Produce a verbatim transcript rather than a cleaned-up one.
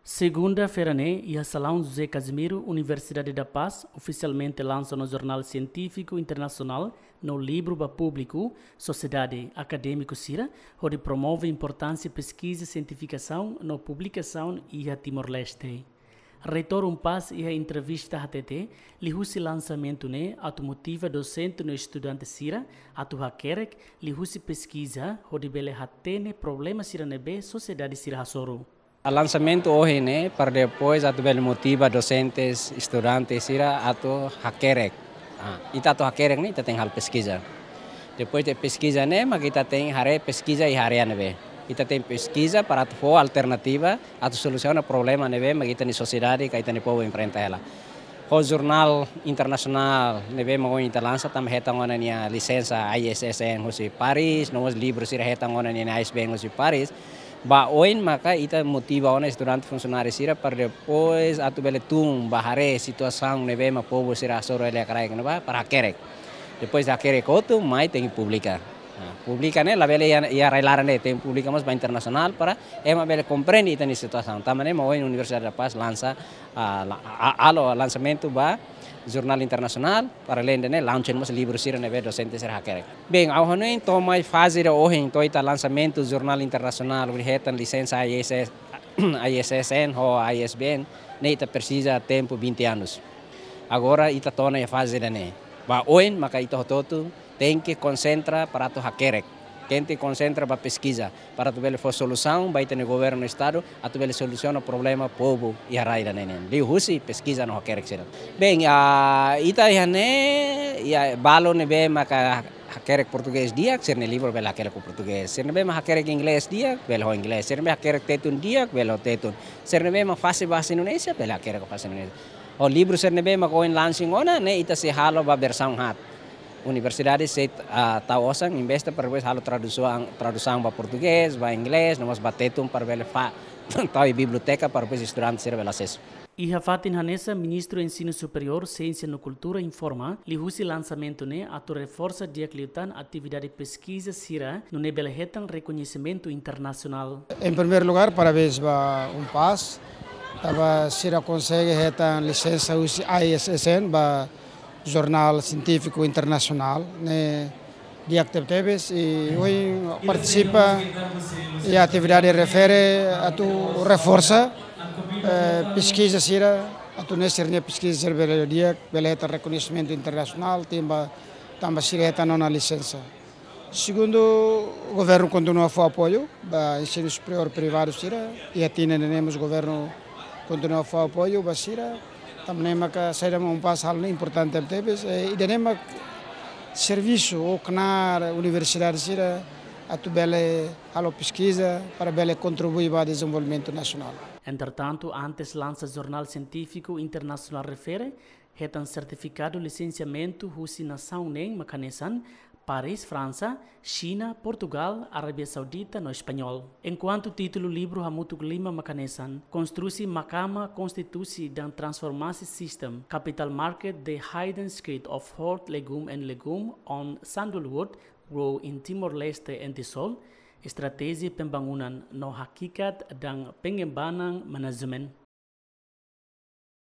Segunda-feira ne'e, iha Salaun José Casimiro, Universidade da Paz, ofisialmente lansa ona jornál sientífiku internasionál no livru ba públiku, sosiedade, akadémiku sira, hodi promove importánsia peskiza, sientifikasaun no publikasaun iha Timor-Leste. Reitór UNPAZ iha entrevista hatete, liuhusi lansamentu ne'e atu motiva dosente no estudante sira atu hakerek liuhusi peskiza hodi bele hatene problema sira ne'ebé sosiedade sira hasoru. Lansamentu ohin ne'e para depois atu bele motiva dosentes, estudante sira atu hakerek. Ah, ita atu hakerek ne'e ita tenke halo peskiza. Depois de peskiza ne'e mak ita tenke haree peskiza iha área ne'ebé. Ita tenke peskiza para atu fó alternativa atu solusiona problema ne'ebé mak ita-nia sosiedade ka ita-nia povu enfrenta hela. Ho jornál internasionál ne'ebé mak ohin ita lansa, tanba hetan ona nia lisensa I S S N husi Paris, no mós livru sira hetan ona nia I S B N husi Paris. Ba oin maka ita motiva ona estudante, funsionáriu sira para depois atu bele tun ba haree situasaun ne'ebé mak povu sira hasoru hela iha kraik ne'ebá para hakerek. Depois hakerek hotu mai tenke publika. Nah, publika ne'e labele iha, iha rai-laran de'it, tenke publika mós ba internasionál para ema bele komprende ita-nia situasaun. Tanba ne'e mak ohin Universidade da Paz lansa, ah, la-, a-, halo lansamentu ba jornál internasionál, para além de ne'e, launching mós livru sira ne'ebé dosente sira hakerek. Bem, ha'u hanoin to'o mai faze ida ohin, to'o ita lansamentu jornál internasionál, hodi hetan lisensa I S S, I S S N ho I S B N, ne'e ita presiza tempu vinte anos. Agora ita to'o ona iha faze ida-ne'e. Ba oin maka ita hotu-hotu tenke konsentra para atu hakerek. Tenke konsentra ba peskiza para atu bele fó solusaun ba ita-nia governu estadu, atu bele solusiona problema povu iha rai ida-ne'e nian. Liuhusi peskiza no hakerek sira. Bem, ah, ita iha ne'e, iha balu ne'ebé maka hakerek portugés di'ak, sira-nia livru bele hakerek ho portugés. Sira ne'ebé mak hakerek inglés di'ak, bele ho inglés. Sira ne'ebé hakerek tetun di'ak, bele ho tetun. Sira ne'ebé mak fase bahasa Indonézia, bele hakerek ho fase Indonézia. Ho livru sira ne'ebé mak ohin launching ona, ne'e ita sei halo ba versaun haat. Universidade sei, ah, tau osan, investe para depois halo tradusaun, tradusaun ba portugés, ba inglés, no mós ba tetun para bele fa-, tau iha biblioteka para depois estudante sira bele asesu. Iha fatin hanesan, Ministru Ensinu Superiór, Siénsia no Kultura informa, liuhusi lansamentu ne'e atu reforsa di'ak liután atividade peskiza sira, nune'e bele hetan rekoñesimentu internasionál. Em primeiro lugar, parabéns ba UNPAZ, tanba sira konsege hetan lisensa husi I S S N ba jornál sientífiku internasionál, ne'e di'ak tebetebes, i ohin partisipa iha atividade refere atu reforsa, eh, peskiza sira, atu nune'e sira-nia peskiza sira bele di'ak, bele hetan rekoñesimentu internasionál, tanba, tanba sira hetan ona lisensa. Segundu, governu kontinua fó apoiu ba ensinu superiór privadu sira, iha tinan ida-ne'e mós governu kontinua fó apoiu ba sira. Tanba ne'e maka saida mak UNPAZ halo ne'e importante tebes, eh, ida-ne'e mak servisu ou knaar universidade sira atu bele halo peskiza para bele kontribui ba dezenvolvimentu nasionál. Entretantu, antes lansa jornál sientífiku internasionál refere, hetan sertifikadu lisensiamentu husi nasaun neen mak hanesan Paris, Fransa, Xina, Portugal, Arábia Saudita no Español. Enkuantu títulu livru hamutuk lima mak hanesan Konstrusi Mahkamah Konstitusi dan Transformasi Sistem Capital Market: The Hidden Secret of Hot Legume and Legume on Sandalwood Grow in Timor-Leste and Tisol, Estratéjia Pembangunan no Hakikat dan Pengembangan Manajemen.